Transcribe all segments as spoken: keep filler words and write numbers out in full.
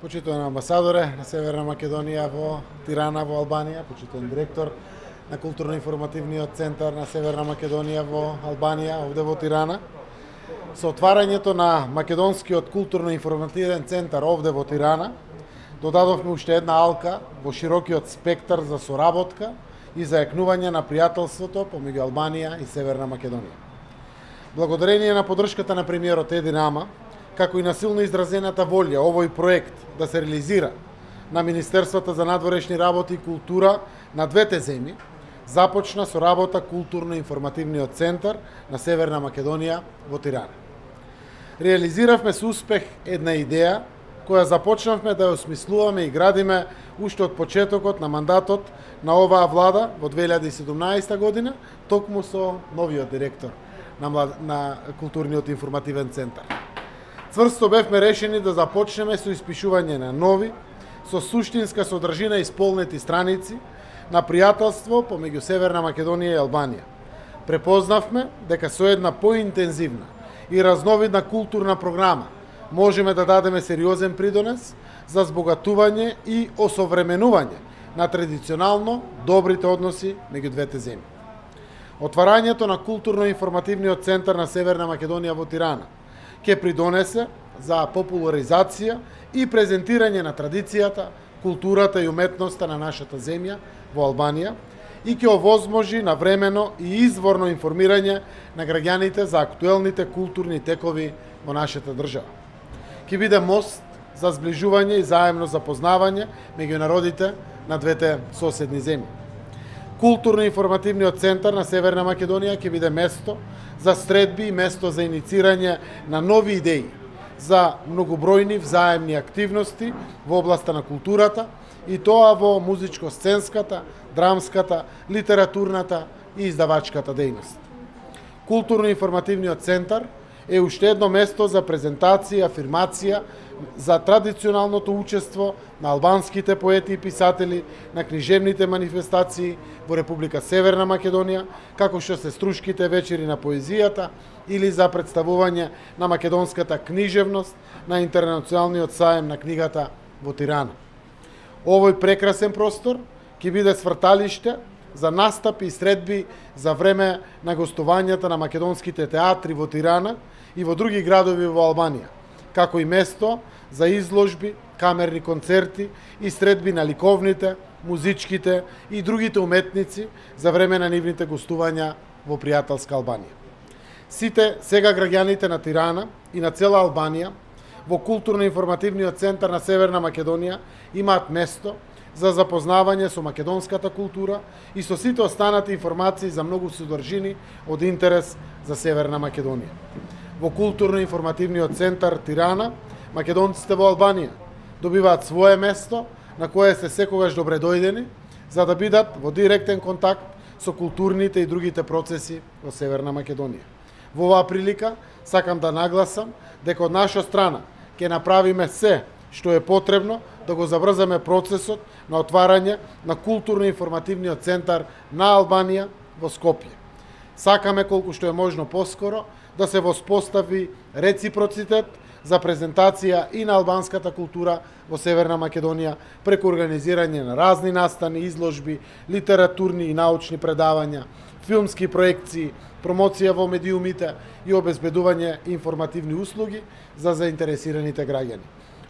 Почитуван амбасадоре на Северна Македонија во Тирана во Албанија, почитуван директор на културно-информативниот центар на Северна Македонија во Албанија, овде во Тирана. Со отварањето на Македонскиот културно-информативен центар овде во Тирана, додадовме уште една алка во широкиот спектар за соработка и зајакнување на пријателството помеѓу Албанија и Северна Македонија. Благодарение на поддршката на премиерот Еди Рама, како и на силно изразената волја овој проект да се реализира на Министерството за надворешни работи и култура на двете земји, започна со работа културно-информативниот центар на Северна Македонија во Тирана. Реализиравме со успех една идеја која започнавме да ја осмислуваме и градиме уште од почетокот на мандатот на оваа влада во две илјади и седумнаесета година, токму со новиот директор на, млад... на културниот информативен центар. Цврсто бевме решени да започнеме со испишување на нови, со суштинска содржина исполнети страници на пријателство помеѓу Северна Македонија и Албанија. Препознавме дека со една поинтензивна и разновидна културна програма можеме да дадеме сериозен придонес за збогатување и осовременување на традиционално добрите односи меѓу двете земји. Отварањето на културно-информативниот центар на Северна Македонија во Тирана ќе придонесе за популаризација и презентирање на традицијата, културата и уметноста на нашата земја во Албанија и ќе овозможи навремено и изворно информирање на граѓаните за актуелните културни текови во нашата држава. Ќе биде мост за зближување и заемно запознавање меѓу народите на двете соседни земји. Културно-информативниот центар на Северна Македонија ќе биде место за средби и место за иницирање на нови идеи за многобројни взаемни активности во областа на културата и тоа во музичко-сценската, драмската, литературната и издавачката дејност. Културно-информативниот центар е уште едно место за презентација и афирмација за традиционалното учество на албанските поети и писатели на книжевните манифестации во Република Северна Македонија, како што се струшките вечери на поезијата или за представување на македонската книжевност на Интернационалниот саем на книгата во Тирана. Овој прекрасен простор ќе биде сврталиште за настапи и средби за време на гостувањата на македонските театри во Тирана и во други градови во Албанија, како и место за изложби, камерни концерти и средби на ликовните, музичките и другите уметници за време на нивните гостувања во пријателска Албанија. Сите сега граѓаните на Тирана и на цела Албанија во културно-информативниот центар на Северна Македонија имаат место за запознавање со македонската култура и со сите останати информации за многу содржини од интерес за Северна Македонија. Во културно-информативниот центар Тирана, македонците во Албанија добиваат свое место на кое се секогаш добре дојдени, за да бидат во директен контакт со културните и другите процеси во Северна Македонија. Во оваа прилика сакам да нагласам дека од наша страна ќе направиме се што е потребно да го забрзаме процесот на отварање на културно-информативниот центар на Албанија во Скопје. Сакаме колку што е можно поскоро да се воспостави реципроцитет за презентација и на албанската култура во Северна Македонија преку организирање на разни настани, изложби, литературни и научни предавања, филмски проекции, промоција во медиумите и обезбедување информативни услуги за заинтересираните граѓани.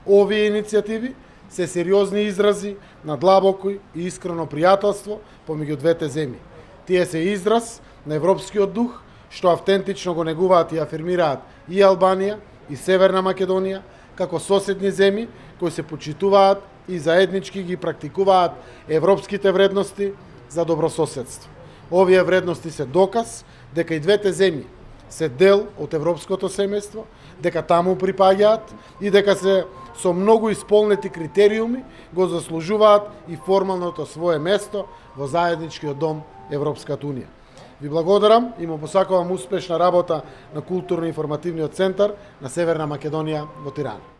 Овие иницијативи се сериозни изрази на длабоко и искрено пријателство помеѓу двете земји. Тие се израз на европскиот дух, што автентично го негуваат и афирмираат и Албанија и Северна Македонија како соседни земји кои се почитуваат и заеднички ги практикуваат европските вредности за добрососедство. Овие вредности се доказ дека и двете земји се дел од европското семејство, дека таму припаѓаат и дека се со многу исполнети критериуми го заслужуваат и формалното свое место во заедничкиот дом Европската Унија. Ви благодарам и му посакувам успешна работа на културно-информативниот центар на Северна Македонија во Тирана.